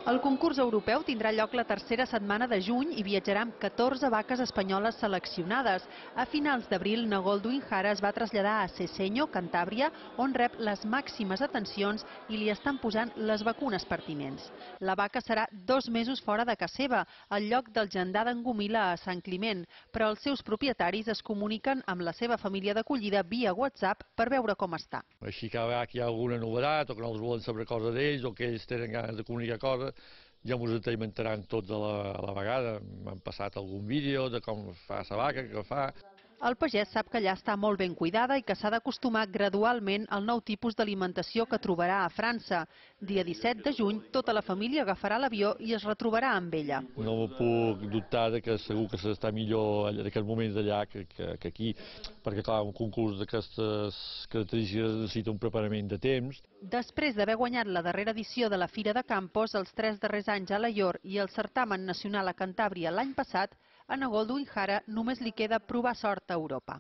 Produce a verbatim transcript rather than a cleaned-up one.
El concurs europeu tindrà lloc la tercera setmana de juny i viatjarà amb catorze vaques espanyoles seleccionades. A finals d'abril, Nagoldwin Hara es va traslladar a Sesenyo, Cantàbria, on rep les màximes atencions i li estan posant les vacunes pertinents. La vaca serà dos mesos fora de casa seva, al lloc del gendar d'en Gomila a Sant Climent, però els seus propietaris es comuniquen amb la seva família d'acollida via WhatsApp per veure com està. Així que hi ha alguna novetat o que no els volen saber cosa d'ells o que ells tenen ganes de comunicar coses, ja ens estem tots a la, a la vegada. M'han passat algun vídeo de com fa la vaca, què fa. El pagès sap que allà està molt ben cuidada i que s'ha d'acostumar gradualment al nou tipus d'alimentació que trobarà a França. Dia disset de juny, tota la família agafarà l'avió i es retrobarà amb ella. No me puc dubtar de que segur que s'està millor en aquests moments allà que, que, que aquí, perquè clar, un concurs d'aquestes característiques necessita un preparament de temps. Després d'haver guanyat la darrera edició de la Fira de Campos, els tres darrers anys a Alaior i el certamen nacional a Cantàbria l'any passat, a Nagoldwin Hara només li queda provar sort a Europa.